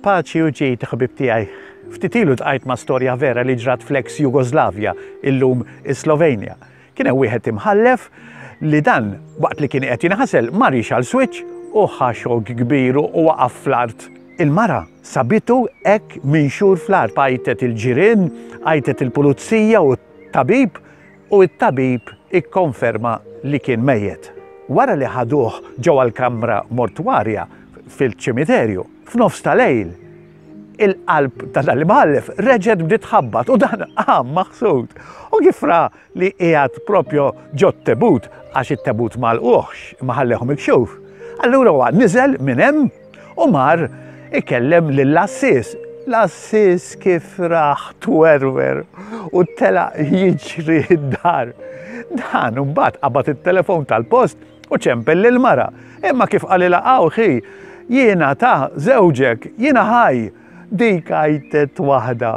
Paċi u ġid, ħbib tiegħi. Ftit ilu tqajt ma' storja vera li ġrat fl-ex Jugoslavja, illum is-Slovenja. Kien hemm wieħed imħallef li dan waqt li kien qed jinħasel mar jixgħal switch u ħa xokk kbir u waqa' fl-art. Il-mara sabitu hekk minxur fl-art, għajtet il-ġirien, għajtet il-pulizija u t-tabib u t-tabib ikkonferma li kien mejjet. Wara li ħaduh ġewwa l-kamra mortwarja fil-ċimiterju, f'nofs ta' lejl, il-qalb ta' dan l-imħallef reġgħet bdiet tħabbat u dan qam maħsud. U kif ra li qiegħed propju ġot-tebut għax it-tebut ma lquhx imma ħallehom mikxuf. Allura huwa niżel minn hemm u mar ikellem lill-għassies. L-għassies kif raħ twerwer u telaq jiġri d-dar. Dan imbagħad qabad it-telefon tal-post u ċempel lill-mara. Imma kif qalilha hawn ħi, jiena ta' żewġek, jiena ħaj. Dik għajtet waħda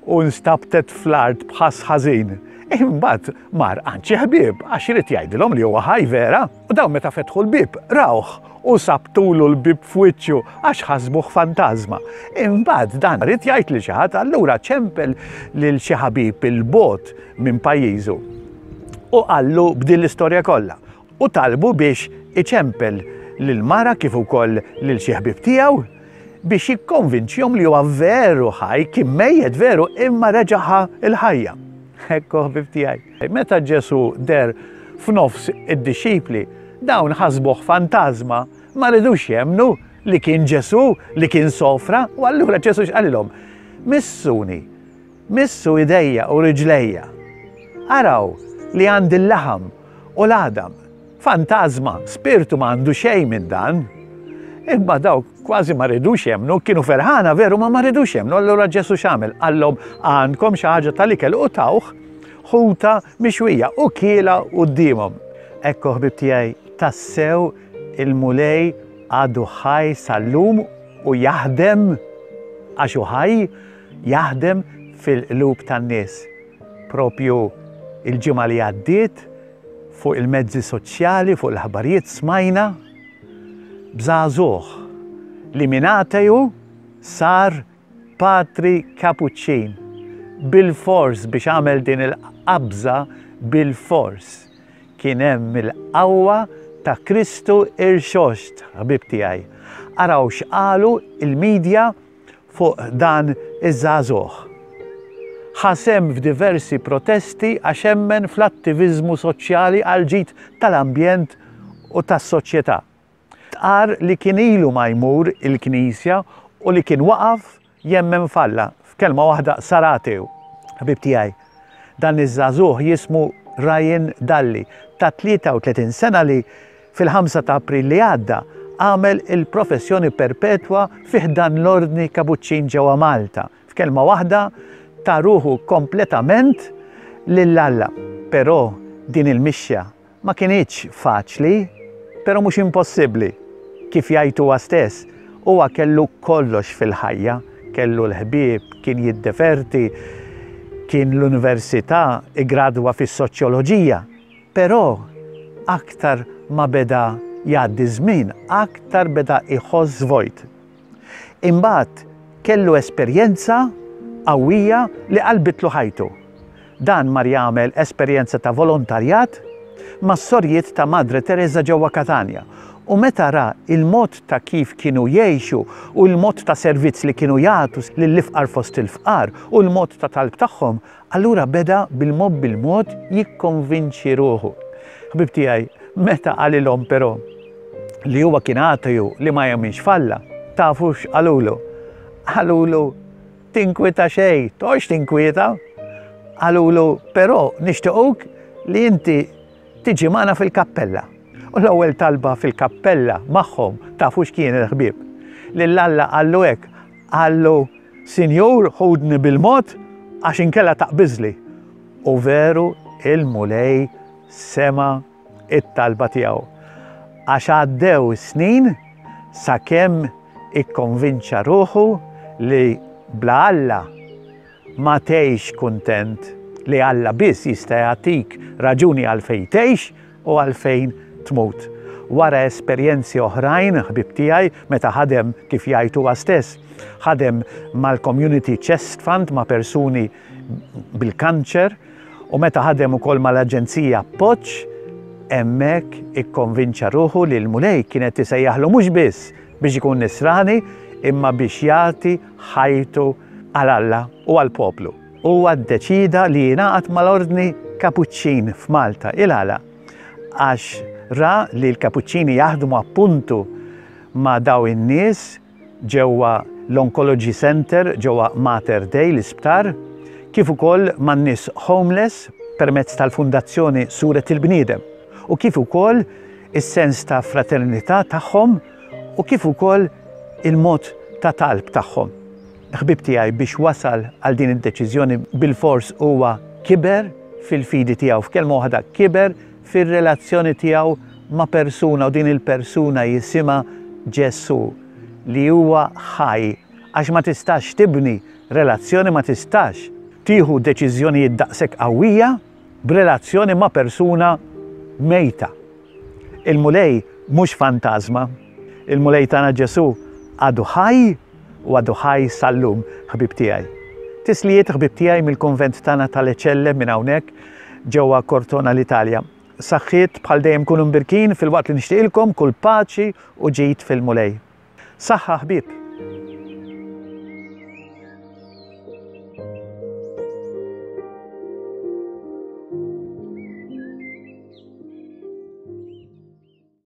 u nstabtet fl-art b'ħass ħażin. Imbagħad mar għand xi ħbieb għax irid jgħidilhom li huwa ħaj vera. U dawn meta fetħu l-bieb rawh u sabtulu l-bieb f'wiċċu għax ħasbuh fantażma. Imbagħad dan ried jgħid lil xi ħadd allura ċempel lil xi ħabib 'il bogħod minn pajjiżu u qallu b'din l-istorja kollha u talbu biex iċempel lill-mara kif ukoll lil xi ħbieb tiegħu biex jikkonvinċihom li huwa veru ħaj, kien mejjet veru imma reġa' ħa l-ħajja. Ekku ħbib tiegħi. Meta Ġesù deher f'nofs id-dixxipli, dawn ħasbuh fantażma, ma ridux jemmnu li kien Ġesù li kien sofra, u allura Ġesù x'qalilhom? Missuni, missu idejja u riġlejja. Araw li għandi l-laħam u l-għadam. Fantażma, spirtu ma għandu xejn minn dan. Imma dawk kważi ma ridux jemmnu, kienu ferħana veru ma ma ridux jemmnu. Allura Ġesù x'għamel? Qallhom għandkom xi ħaġa tal-ikel u tawh ħuta mixwija u kiela quddiemhom. Ekku ħbib tiegħi, tassew il-Mulej għadu ħaj sal-lum u jaħdem għax hu ħaj, jaħdem fil-qlub tan-nies. Propju il-ġimgħa li għaddiet fuq il-mezzi soċjali, fuq l-aħbarijiet smajna b'żagħżugħ li minn ateju sar patri Kapuċċin. Bilfors biex għamel din il-qabża bilfors kien hemm il-qawwa ta' Kristu irxoxt, ħbieb tiegħi. Araw x'qalu il-media fuq dan iż-żagħżugħ. Ħa sehem f'diversi protesti għax emmen fl-attiviżmu soċjali għall-ġid tal-ambjent u tas-soċjetà. Stqarr li kien ilu ma jmur il-knisja u li kien waqaf jemmen f'Alla. F'kelma waħda sar ateu. Ħbieb tiegħi, dan iż-żagħżugħ jismu Ryan Dalli, ta' 33 sena li Fil-ħamsa ta' April li għadda għamel il-professjoni perpetwa fi ħdan l-Ordni Kabuċċin ġewwa Malta. F'kelma waħda, ta ruħu kompletament lil Alla. Però din il-mixja ma kinitx faċli, però mhux impossibbli. Kif jgħid huwa stess, huwa kellu kollox fil-ħajja, kellu l-ħbieb, kien jiddeverti, kien l-università, iggradwa fis-soċjoloġija. Però aktar ma beda jgħaddi ż-żmien, aktar beda jħoss vojt. Imbagħad kellu esperjenza qawwija li qalbitlu ħajtu. Dan mar jagħmel esperjenza ta' volontarjat mas-sorijiet ta' Madre Tereża ġewwa Katanja u meta ra l-mod ta' kif kienu jgħixu u l-mod ta' servizz li kienu jagħtu lill-ifqar fost il-fqar u l-mod ta' talb tagħhom, Allura beda bil-mod bil-mod jikkonvinċi ruħu. Ħbieb tiegħi, meta qalilhom però li huwa kien ateju li ma jemminx f'Alla, tafu x'qalulu? Qalulu tinkwieta xejn, toqgħodx tinkwieta. Qalulu però nixtiequk li inti tiġi magħna fil-kappella. U l-ewwel talba fil-kappella magħhom tafu x'kienet ħbieb? Lil Alla qallu hekk, qallu Sinjur, ħudni bil-mod għax inkella taqbiżli. U veru il-Mulej sema' it-talba tiegħu. Għax għaddew is-snin sakemm ikkonvinċa ruħu li bla Alla ma tgħix kuntent, li Alla biss jista' jagħtik raġuni għalfejn tgħix u għalfejn tmut. Wara esperjenzi oħrajn, ħbieb tiegħi, meta ħadem kif jgħid huwa stess, ħadem mal-Community Chest Fund ma' persuni bil-kanċer u meta ħadem ukoll mal-Aġenzija Appoġġ, hemmhekk ikkonvinċa ruħu li l-Mulej kien qed isejjaħlu mhux biss biex ikun nisrani imma biex jagħti ħajtu għal Alla u għall-poplu. Huwa ddeċieda li jingħaqad mal-Ordni Kapuċċin f'Malta. Il-għala? Għax ra li l-Kapuċċini jaħdmu appuntu ma' daw in-nies ġewwa l-Oncology Centre ġewwa Mater Dei l-isptar, kif ukoll man-nies homeless permezz tal-Fundazzjoni Suret il-Bniedem u kif ukoll is-sens ta' fraternità tagħhom u kif ukoll il-mod ta' talb tagħhom. Ħbieb tiegħi biex wasal għal din id-deċiżjoni bilfors huwa kiber fil-fidi tiegħu, f'kelma waħda kiber fir-relazzjoni tiegħu ma' persuna u din il-persuna jisimha Ġesù li huwa ħaj għax ma tistax tibni relazzjoni ma tistax tieħu deċiżjonijiet daqshekk qawwija b'relazzjoni ma' persuna mejta. Il-Mulej mhux fantażma. Il-Mulej tagħna Ġesù għadu ħaj u għadu ħaj sal-lum, ħbieb tiegħi. Tislijiet ħbieb tiegħi mill-kunvent tagħna tal-Eċelle minn hawnhekk ġewwa Cortona l-Italja. Saħħiet bħal dejjem kunu mbirkin filwaqt li nixtieqilkom kull paċi u ġid fil-Mulej. Saħħa ħbieb!